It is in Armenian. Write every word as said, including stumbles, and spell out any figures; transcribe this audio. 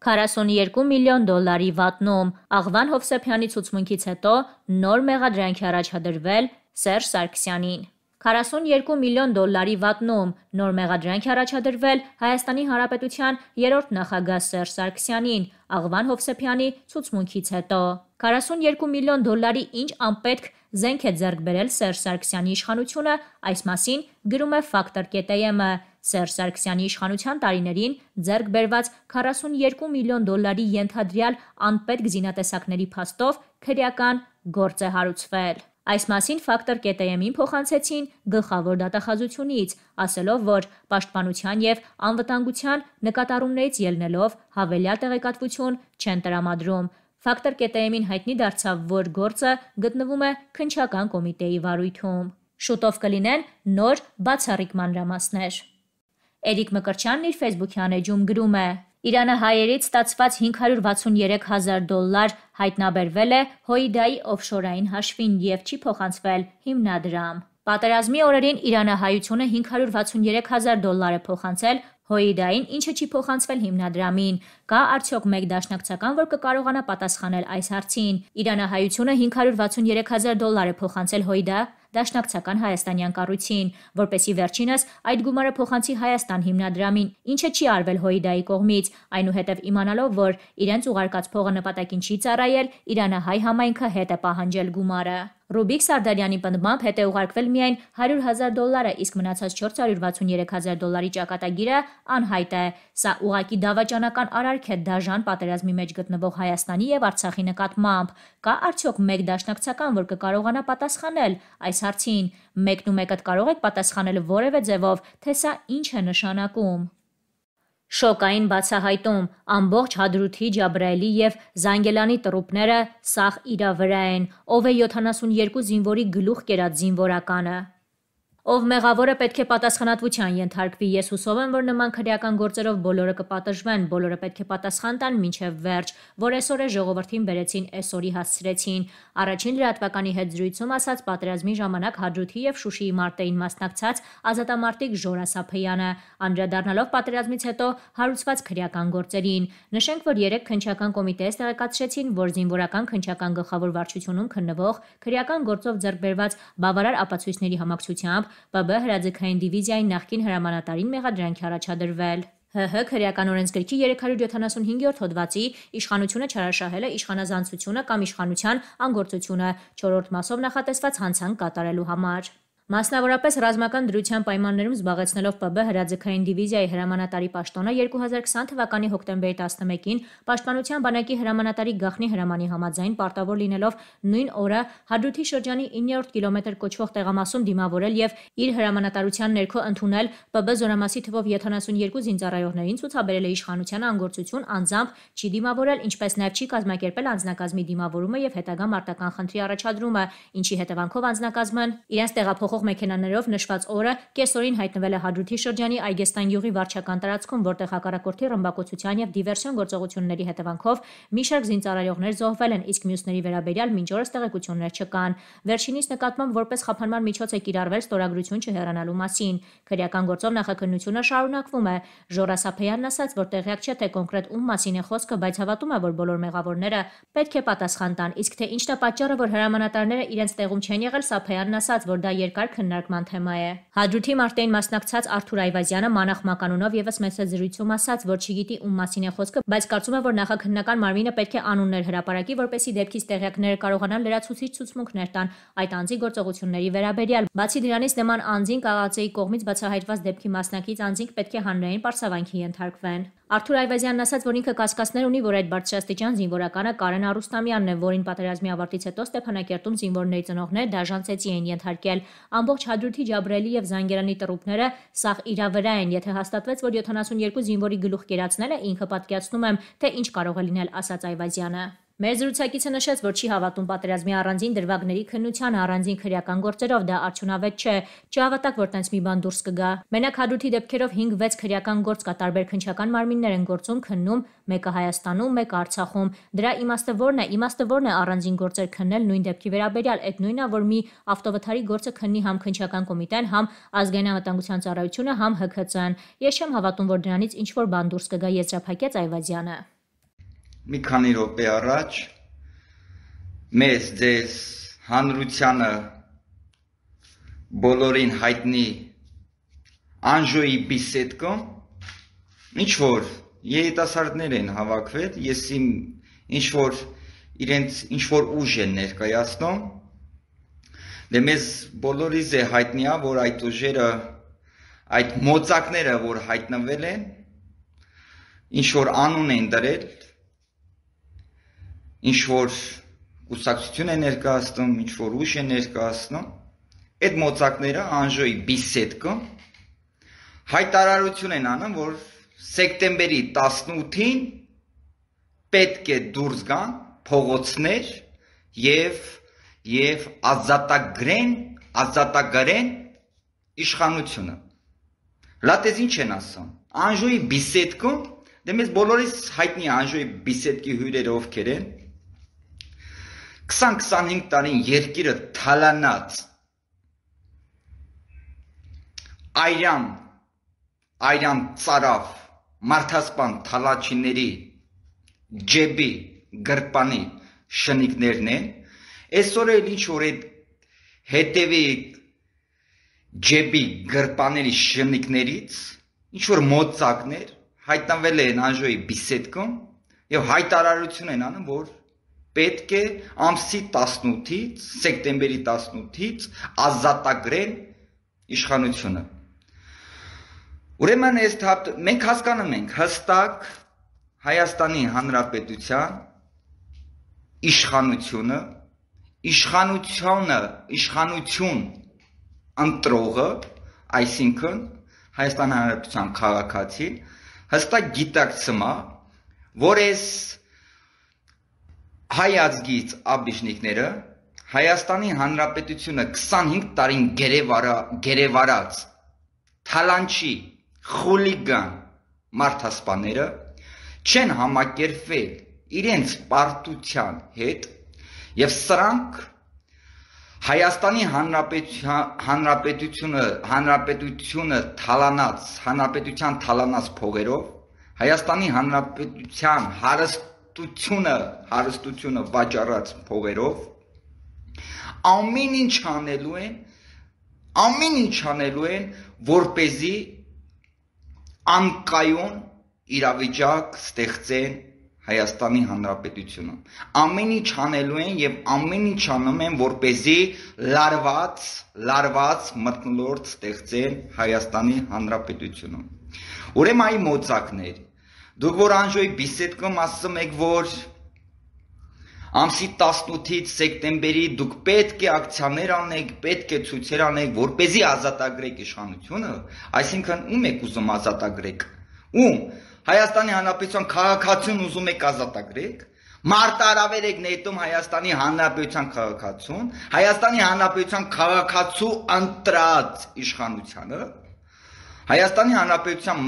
քառասունուերկու միլիոն դոլարի վատնում։ Աղվան Հովսեփյանի ցուցմունքից հետո նոր մեղադրանքի առաջադրվել Սերժ Սարգսյանին։ քառասունուերկու միլիոն դոլարի վատնում նոր մեղադրանք առաջադրվել Հայաստանի Հանրապետության երրորդ նախագահ Սերժ Սարգսյանին Աղվան Հովսեփյանի ցուցմունքից հետո։ քառասունուերկու միլիոն դոլարի ինչ անպետք զենք է ձեռք բերել Սերժ Սարգսյանի իշխանությունը, այս մասին գրում է Factor.am-ը։ Սերժ Սարգսյանի իշխանության տարիներին ձեռք բերված քառասունուերկու միլիոն դոլարի ենթադրյալ անպետք զինատեսակների փաստով քրեական գործ է հարուցվել։ Այս մասին Factor.am-ին փոխանցեցին գլխավոր դատախազությունից, ասելով, որ պաշտպանության և անվտանգության նկատառումներից ելնելով հավելյալ տեղեկատվություն չեն տրամադրում։ Factor.am-ին հայտնի դարձավ, որ գործը գտնվում է քննչական կոմիտեի վարույթում։ Շուտով կլինեն նոր բացառիկ մանրամասներ։ Էրիկ Մկրտչյանն իր ֆեյսբուքյան էջում գրում է. Իրանահայերից ստացված հինգ հարյուր վաթսունուերեք հազար դոլար հայտնաբերվել է Հոիդայի օֆշորային հաշվին և չի փոխանցվել հիմնադրամ։ Պատերազմի օրերին իրանահայությունը հինգ հարյուր վաթսունուերեք հազար դոլար է փոխանցել Հոիդային, ինչը չի փոխանցվել հիմնադրամին։ Կա արդյոք մեկ դաշնակցական, որ կկարողանա պատասխանել այս հարցին։ Իրանահայությունը հինգ հարյուր վաթսունուերեք հազար դոլար է փոխանցել Հոիդա դաշնակցական հայաստանյան կառույցին, որպեսզի վերջինս այդ գումարը փոխանցի Հայաստան հիմնադրամին, ինչը չի արվել Հոիդայի կողմից, այնուհետև իմանալով, որ իրենց ուղարկած փողը նպատակին չի ծառայել, իրանահայ համայնքը հետ է պահանջել գումարը։ Ռուբիկ Սարդարյանի պնդմամբ հետ է ուղարկվել միայն հարյուր հազար դոլարը, իսկ մնացած չորս հարյուր վաթսունուերեք հազար դոլարի ճակատագիրը անհայտ է։ Սա ուղղակի դավաճանական արարք է դաժան պատերազմի մեջ գտնվող Հայաստանի և Արցախի նկատմամբ։ Կա արդյոք մեկ դաշնակցական, որ կկարողանա պատասխանել այս հարցին։ Մեկն ու մեկդ կարող եք պատասխանել որևէ ձևով, թե սա ինչ է նշանակում։ Շոկային բացահայտում՝ ամբողջ Հադրութի, Ջաբրայելի և Զանգելանի տրուպները սաղ իրա վրա են։ Ով է յոթանասունուերկու զինվորի գլուխ կերած զինվորականը։ Ով մեղավորը պետք է պատասխանատվության ենթարկվի։ Ես հուսով եմ, որ նման քրեական գործերով բոլորը կպատժվեն, բոլորը պետք է պատասխան տան մինչև վերջ, որ այսօր է ժողովրդին բերեցին, այսօրի հասցրեցին։ Առաջին լրատվականի հետ զրույցում ասաց պատերազմի ժամանակ Հադրութի և Շուշիի մարտերին մասնակցած ազատամարտիկ Ժորա Սափեյանը, անդրադառնալով պատերազմից հետո հարուցված քրեական գործերին։ Նշենք, որ երեկ քննչական կոմիտեից տեղեկացրեցին, որ զինվորական քննչական գլխավոր վարչությունում քննվող քրեական գործով ձեռք բերված բավարար ապացույցների համակցությամբ ՊԲ հրաձգային դիվիզիայի նախկին հրամանատարին մեղադրանքի առաջադրվել։ ՀՀ քրեական օրենսգրքի երեք հարյուր յոթանասունհինգերորդ հոդվածի իշխանությունը չարաշահելը, իշխանազանցությունը կամ իշխանության անգործությունը չորրորդ մասով նախատեսված հանցանք կատարելու համար։ Մասնավորապես ռազմական դրության պայմաններում զբաղեցնելով ՊԲ հրաձգային դիվիզիայի հրամանատարի պաշտոնը երկու հազար քսան թվականի հոկտեմբերի տասնմեկին Պաշտպանության բանակի հրամանատարի գաղտնի հրամանի համաձայն պարտավոր լինելով նույն օրը Հադրութի շրջանի իններորդ կիլոմետր կոչվող տեղամասում դիմավորել և իր հրամանատարության ներքո ընդունել ՊԲ զորամասի թվով յոթանասունուերկու զինծառայողներին, ցուցաբերել է իշխանության անգործություն, անձամբ չի դիմավորել, ինչպես նաև չի կազմակերպել անձնակազմի դիմավորումը և հետագա մարտական խնդրի առաջադրումը, ինչի հետևանքով անձնակազմն իրենց տեղափոխող մեքենաներով նշված օրը կեսօրին հայտնվել է Հադրութի շրջանի Այգեստան գյուղի վարչական տարածքում, որտեղ հակառակորդի ռմբակոծության և դիվերսիոն գործողությունների հետևանքով մի շարք զինծառայողներ զոհվել են, իսկ մյուսների վերաբերյալ մինչ օրս տեղեկություններ չկան։ Վերջինիս նկատմամբ որպես խափանման միջոց է կիրառվել ստորագրություն չհեռանալու մասին։ Քրեական գործով նախաքննությունը շարունակվում է։ Ժորա Սափեյանն ասաց, որ տեղյակ չէ, թե կոնկրետ ում մասին է խոսքը, բայց հավատում է, որ բոլոր մեղավորները պետք է պատասխան տան, իսկ թե ինչն է պատճառը, որ հրամանատարները իրենց տեղում չեն եղել, Սափեյանն ասաց, որ դա երկար քննարկման թեմա է։ Հադրութի մարտերին մասնակցած Արթուր Այվազյանը մանախ մականունով ևս մեծ զրույցում ասաց, որ չգիտի ում մասին է խոսքը, բայց կարծում է, որ նախաքննական մարմինը պետք է անուններ հրապարակի, որպեսզի դեպքից տեղյակները կարողանան լրացուցիչ ցուցմունքներ տան այդ անձի գործողությունների վերաբերյալ։ Բացի դրանից, նման անձին կաղացեի կողմից բացահայտված դեպքի մասնակից անձինք պետք է հանրային պարսավանքի ենթարկվեն։ Արթուր Այվազյանն ասաց, որ ինքը կասկածներ ունի, որ այդ բարձրաստիճան զինվորականը Կարեն Արուստամյանն է, որին պատերազմի ավարտից հետո Ստեփանակերտում զինվորների ծնողներ դաժան ծեծի են ենթարկել։ Ամբողջ Հադրութի, Ջաբրայելի և Զանգելանի տրուպները սաղ իրա վրա են։ Եթե հաստատվեց, որ յոթանասունուերկու զինվորի գլուխ կերածնել է, ինքը պատկերացնում եմ, թե ինչ կարող է լինել, ասաց Այվազյանը։ Մեր զրուցակիցը նշեց, որ չի հավատում պատերազմի առանձին դրվագների քննությանը, առանձին քրեական գործերով, դա արդյունավետ չէ։ Չհավատակ, որ տենց մի բան դուրս կգա։ Մենակ Հադրութի դեպքերով հինգ-վեց քրեական գործ կա, տարբեր քննչական մարմիններ են գործում, քննում, մեկը Հայաստանում, մեկը Արցախում։ Դրա իմաստը ո՞րն է։ Իմաստը ո՞րն է առանձին գործեր քննել նույն դեպքի վերաբերյալ։ Այդ նույնն է, որ մի ավտովթարի գործը քննի համ քննչական կոմիտեն, համ ազգային անվտանգության ծառայությունը, համ ՀՔՑ-ն։ Ես չեմ հավատում, որ դրանից ինչ-որ բան դուրս կգա, եզրափակեց Այվազյանը։ մի քանի րոպե առաջ մեզ ձեզ հանրությանը բոլորին հայտնի Անժոյի բիսեդկոն ինչ որ երիտասարդներ են հավաքվել, ես իմ ինչ որ իրենց ինչ որ ուժ են ներկայացնում, դե մեզ բոլորիս է հայտնի է, որ այդ ուժերը, այդ մոծակները, որ հայտնվել են, ինչ որ անուն են դրել, ինչ որ կուսակցություն է ներկայացնում, ինչ որ ուժ է ներկայացնում, այդ մոծակները Անժոյի բիսեդկոն հայտարարություն են անում, որ սեպտեմբերի տասնութին պետք է դուրս գան փողոցներ եւ եւ ազատագրեն, ազատագրեն իշխանությունը։ Լատես ինչ են ասում։ Անժոյի բիսեդկոն, դե մեզ բոլորիս հայտնի Անժոյի բիսեդկի հյուրերը ովքեր են։ քսան քսանհինգ տարին երկիրը թալանած այրան այրան ծարավ մարդասպան թալաչիների ջեբի գրպանի շնիկներն են, այսօր էլ ինչ որ այդ հետևի ջեբի գրպաների շնիկներից ինչ որ մոծակներ հայտնվել են Անժոյի բիսեդկոն եւ հայտարարություն են անում, որ պետք է ամսի տասնութից, սեպտեմբերի տասնութից ազատագրեն իշխանությունը։ Ուրեմն այս մենք հասկանում ենք հստակ Հայաստանի Հանրապետության իշխանությունը, իշխանությունը, իշխանություն ընտրողը, այսինքն Հայաստանի Հանրապետության քաղաքացին հստակ գիտակցում է, որ այս հայ ազգից աբիշնիկները Հայաստանի Հանրապետությունը քսանհինգ տարին գերեվարած թալանչի խուլիգան մարդասպաները չեն համակերպվել իրենց պարտության հետ եւ սրանք Հայաստանի Հանրապետությունը հանրապետությունը թալանած հանրապետության թալանած փողերով Հայաստանի Հանրապետության հարստությունը հարստությունը վաճառած փողերով ամեն ինչ անելու են ամեն ինչ անելու են որպեսզի անկայուն իրավիճակ ստեղծեն Հայաստանի Հանրապետությունում։ Ամեն ինչ անելու են եւ ամեն ինչ անում են, որպեսզի լարված, լարված մթնոլորտ ստեղծեն Հայաստանի Հանրապետությունում։ Ուրեմն այ մոծակներ, դուք որ Անժոյի բիսեդկոն ասում եք, որ ամսի տասնութից սեպտեմբերի դուք պետք է ակցիաներ անեք, պետք է ցույցեր անեք, որպեսզի ազատագրեք իշխանությունը, այսինքն ում եք ուզում ազատագրեք։ Ում Հայաստանի Հանրապետության քաղաքացուն ուզում եք ազատագրեք, մարտահրավեր եք նետում Հայաստանի Հանրապետության քաղաքացուն, Հայաստանի Հանրապետության քաղաքացու ընտրած իշխանությանը, Հայաստանի Հանրապետության